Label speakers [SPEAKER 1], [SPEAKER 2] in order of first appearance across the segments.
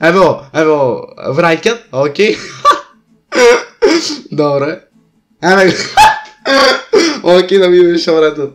[SPEAKER 1] Ево, враќат, окей. Добре. Еве. Окей, да видиме што вратат.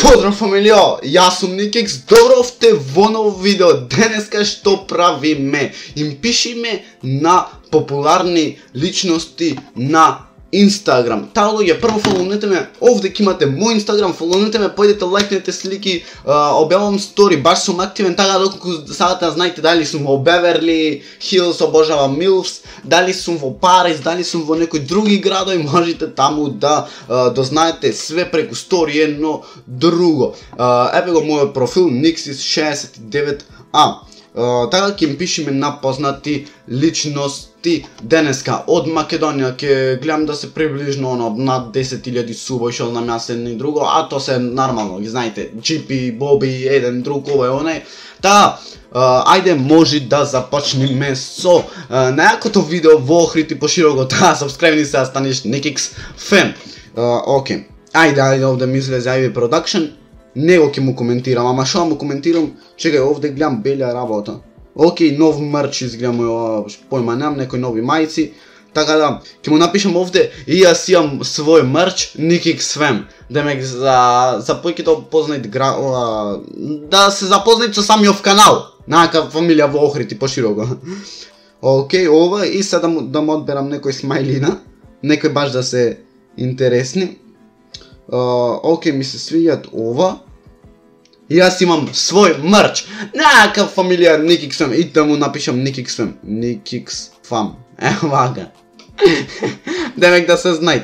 [SPEAKER 1] Поздрав фамилио, јас сум Никикс, добровте во ново видео. Денеска што правиме? Им пишиме на популарни личности на Инстаграм. Таа луѓе, прво фоловнете ме, овде ќе имате мој Инстаграм, фоловнете ме, појдете лајкнете слики, објавам стори, баш сум активен, така доколку сакате да знаете дали сум во Беверли Хилс, обожавам Милфс, дали сум во Париз, дали сум во некои други градови, можете таму да дознаете све преку стори, едно друго. Еве го мојот профил, Nixis69A. Така ќе им пишеме на познати личности денеска од Македонија. Ќе гледам да се приближно над 10.000 субови, што знам јас едно и друго, а то се нормално, ги знаете, Джипи, Боби, еден друг, овој оној. Та, ајде може да започнеме со најакото видео во Охрид и пошироко. Та, сабскрајбни се да станеш Никикс фен. Окей, ајде овде ми излезе Ivy Production. Него ќе му коментирам, ама што му коментирам? Чекај, овде гледам белја работа. Окей, нов мерч изгледам, појма немам, некои нови мајци. Така да, ќе му напишам овде и јас имам свој мерч Никикс фен. Демек за појките познаат да се запознаат со самиот канал. Нака фамилија во Охрид и пошироко. Окей, ова и сега да му одберам некој смајлина, некој баш да се интересни. Окей, ми се свиѓат ова. И јас имам свој мерч. Нака фамилија Никикс фем. И да му напишам Никикс фем. Никикс фам. Вака. Демек да се знаат.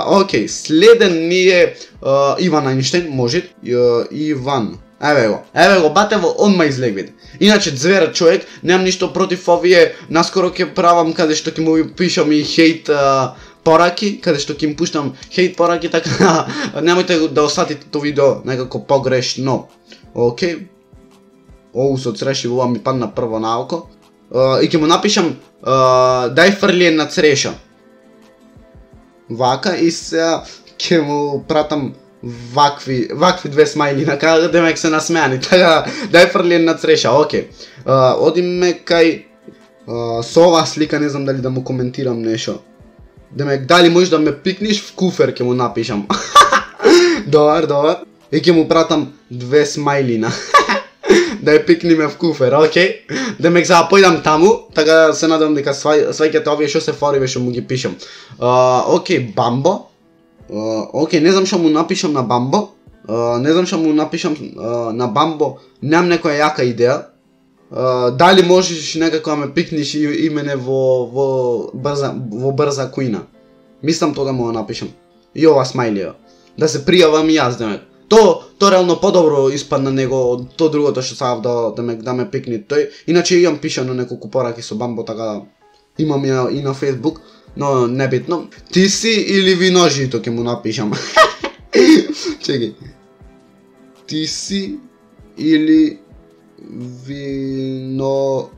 [SPEAKER 1] Окей, следен ми е Иван Ајнштајн, може. Иван. Еве го, батево, одма излегвите. Иначе звер човек, немам ништо против овие. Наскоро ќе правам каде што ќе му пишам и хейт пораки, каде што ќе им пуштам хейт пораки, така немојте да осатите тоа видео некако погрешно. Окей. Оу, со цреши ова ми падна прво на око. И ќе му напишам дај фрли на цреша. Вака и сега ќе му пратам вакви две смајли на кај демек се насмеани. Така дај фрли на цреша. Окей. Одиме кај со оваа слика, не знам дали да му коментирам нешто. Демек, дали можеш да ме пикниш в куфер, ќе му напишам. Добар. И ќе му пратам две смајлина. Да ја пикниме в куфер, окей? Демек, сега појдам таму, така се надам дека сваќате овие што се фориве што му ги пишам. Окей, Бамбо. Окей, не знам што му напишам на Бамбо. Немам некоја јака идеја. Дали можеш некако да ме пикниш и мене во брза куина. Мислам тоа да му напишам. И ова смајлија. Да се пријавам и јас, демек. То реално подобро испадна него од то другото што сакав да ме пикни тој. Иначе имам пишано неколку пораки со Бамбо, така имам ја и на Facebook, но небитно. Ти си или виножито ќе му напишам. Чекај. Ти си или вино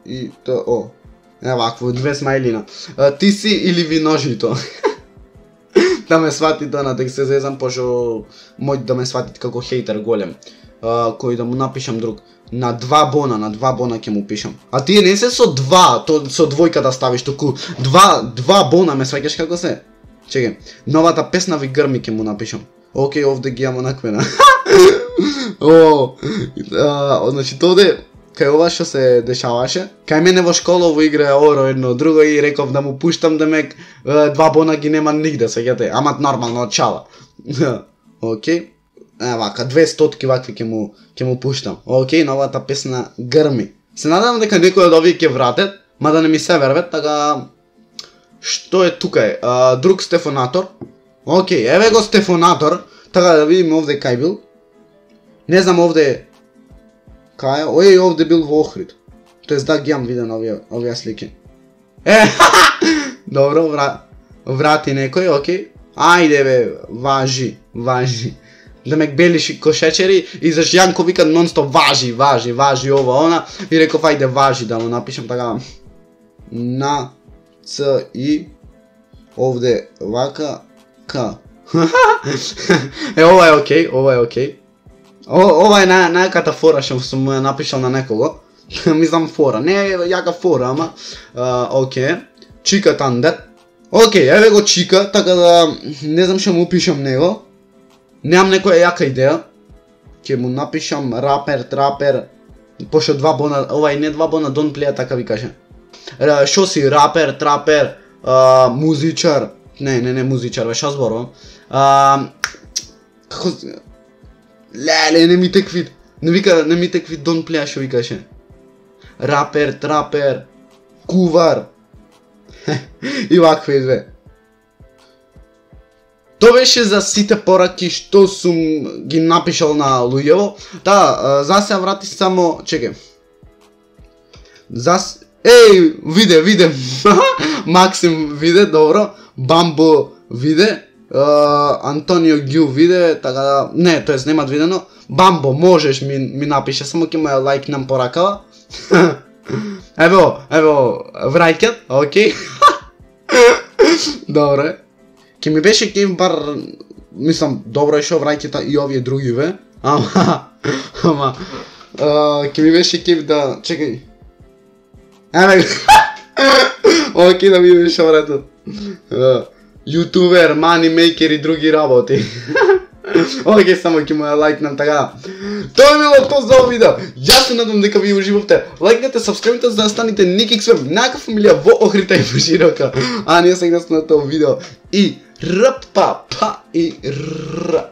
[SPEAKER 1] и то вакво две смајлина. Ти си или виножито. Да ме свати тоа, дека се зезам, пошто мој да ме сватит како хейтер голем. Кој да му напишам друг. На два бона ќе му пишам. А тие не се со два, то со двојка да ставиш, току два бона, ме сваќаш како се? Чекај, новата песна ви грми ќе му напишам. Окей, овде ги имам онаквена. Значи тоде, кај ова што се дешаваше, кај мене во школа во игра Оро едно друго и реков да му пуштам, демек два бона ги нема нигде, сеќате, ама нормално од чала. Окей, вака, 200 вакви ќе му пуштам. Окей, новата песна грми. Се надам дека некој од овие ќе вратат, мада не ми се верват, така што е тука е? Друг Стефонатор. Окей, еве го Стефонатор, така да видиме овде кај бил. Не знам овде кај, овде бил во Охрид. Тоест да ги имам виден овие слики. Добро, врати некој, окей. Ајде бе, важи. Демек белиши кошечери и заш Јанко вика нон-стоп важи ова, она. И реков ајде важи да му напишам така. на Ц и овде вака К. Ова е окей, ова е окей. Ова е најаката фора што сум ја напишал на некого. Мислам фора, не е јака фора, ама окей. Чика Тандер. Окей, еве го Чика, така да не знам што му пишам него. Немам некоја јака идеја. Ќе му напишам рапер, трапер, пошто 2 бона, ова и не 2 бона, don't play, така ви каже. Шо си, рапер, трапер, музичар, не музичар, бе, шо зборувам? Како... Леле, не ми текви, не ми текви don't play, шо ви каже. Рапер, трапер, кувар. И вакви изве. Тоа беше за сите пораки што сум ги напишал на луѓево. Да, за се врати само, чекај. Еј, виде. Максим виде, добро. Бамбо виде. Антонио Гју виде, така да, не, тоест немат видено. Бамбо, можеш ми напише, само ќе ме лајкнам поракава. Ево, враќат, окей. Добре. Ке ми беше кејв бар, мислам, добро е шо враќата и овие други ве. Ама, ке ми беше кејв да, чекај. Еве, окей, да ми беше вратат. Ютубер, манимейкер и други работи. Окей, само ќе му ја лајкнам, така. Тоа е било тоа за овој видео. Јас се надам дека ви уживавте. Лајкнете, сабскрајбите за да станете Никикс Веб, најака фамилија во Охрита и во Широка. А ние сега сме на тоа видео. И рпа па и р.